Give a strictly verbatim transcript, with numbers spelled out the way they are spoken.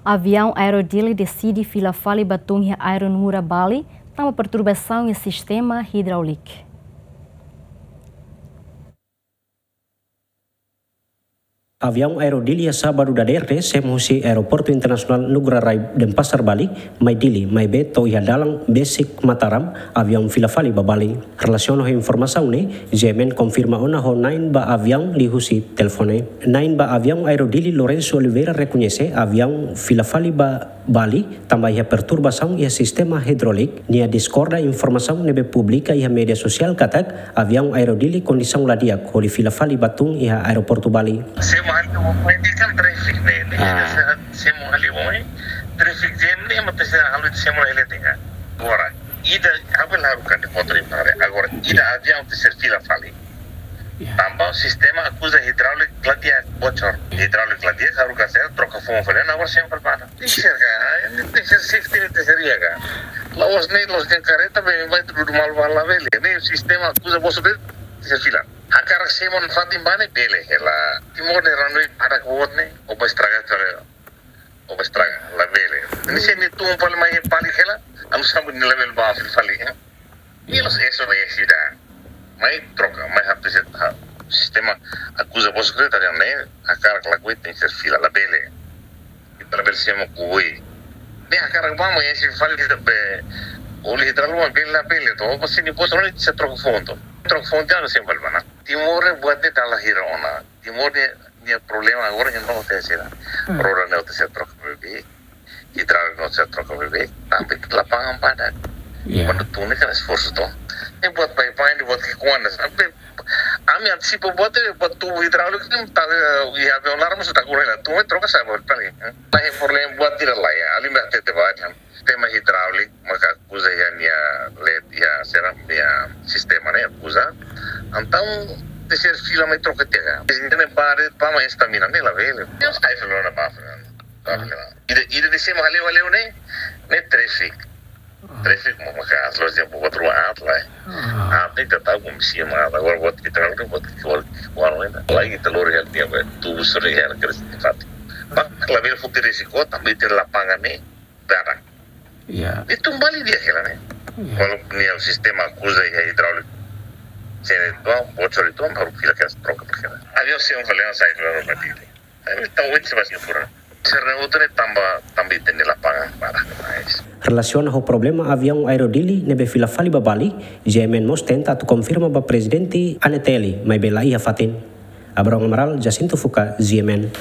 Aviaun Aero Dili deside fila fali ba tun iha Aero Ngurah Bali, tanba perturbasaun iha sistema hidráulika. Aviaun Aero Dili iha sábadu dadeer ne'e semo husi Aeroportu Internasionál Ngurah Rai Denpasar Bali, mai Dili, maibé to'o iha dalan besik Mataram, aviaun fila fali ba Bali. Relasiona ho informasaun ne'e, GMN konfirma ona ho na'in ba aviaun liuhusi telefone. Na'in ba aviaun Aero Dili, Lourenço Oliveira, rekoñese aviaun fila fali ba Bali tanba iha perturbasaun iha sistema hidráulika. Nia diskorda informasaun ne'ebé publika iha média sosiál katak aviaun Aero Dili kondisaun la di'ak hodi fila fali ba tun iha Aeroportu Bali. Semo hali, ida-ne'e kan traffic ne'e, ne'e Ah. semo hali, traffic jam ne'e, mak semo hali, semo hali tengah. Agora, ida aviaun haruka de'it motor ipare. Agora, ida aviaun tenke ser fila fali. Ya. Tanba sistema akuza hidráulika la di'ak bocor. Hidráulika la di'ak, haruka sira troka foun fali, agora sempre para. Tenke ser ka, tenke ser safety ne'e tenke ser di'ak ka. La'ós ne'e, la'ós dehan karreta bá, bá tudu malu ba labele. Ne'e sistema akuza bocor de'it, tenke ser fila. Hakarak semo fatin ba ne'e bele hela. Timor ne'e runway para boot ne'e, o bá estraga tole. O bá estraga, labele. Ne'e se nia tun fali mai fali hela, anu sambu nia labele bá fila fali, eh. Nia la'ós eso ba ida. Mai troka, mai hapte se ta. Sistema akuza bocor de'it, ida-ne'e, hakarak lakohi tenke ser fila, labele. Ita labele semo koi. Ne'e hakarak bá mai fila fali ita be. Oli hidráulika bele labele, to. Mas se nia bocor ne'e tenke ser troka foun to. Troka foun tiha, sempre bá ona. Timor ne'e buat ne'e dala hira ona. Timor ne'e, nia problema agora ne'e no tenke ser. Hmm. Roda ne'e tenke ser troka beibeik. Hidráulika no tenke ser troka beibeik. Tanba lapangan badak. Ya. Kuandu tun ne'e kan esforsu to. Ne'e buat baibain, ne'e buat ki'ikoan. Sampai ami antisipa buat ne'e, buat tubu hidráulika ne'e, ta, eh, iha aviaun laran mós ita kura la. Tun ne'e troka sa'e buat tali. Ne'e problema buat ida la iha. Alin ba tete ba. Sistema hidráulika, maka akuza iha nia led, iha sira-nia sistema ne'e akuza. Entaun, tenke ser fila mai troka tiha ka. Ne'e bare, bá mai estamina ne'e labele. Deus, ai, fila ona bá, fila ona. Bá, fila ona. Ida, ida ne'e semo hali, hali ne'e, ne'e traffic. Traffic, mo maka aslo dia buat rua at la. Ah. At ne'e ita tahu komisi ma, agora buat hidráulika, buat ki'ikoan, ki'ikoan ne'e. Lagi telur ya, dia buat tubu sore ya, kira sifat. Bá, labele foti risiko, tanba iha lapangan ne'e. Dara. Ya. Ita kembali dia hela ne'e. Ya. Walaupun nia sistema akuza iha hidráulika. Sira itu, bocor itu, baru fila ka troka ba hela. Aviaun semo fali ona sa'e fila ona ba Dili. Ami tahu itu masih kurang. Sira-ne'e hotu ne'e tanba, tanba ita-nia lapangan badak demais. Relasiona ho problema aviaun Aero Dili ne'ebé fila fali ba Bali, GMN mós tenta atu konfirma ba Prezidente ANTL, maibé la iha fatin. Abrão Amaral, Jacinto Fuca, GMN.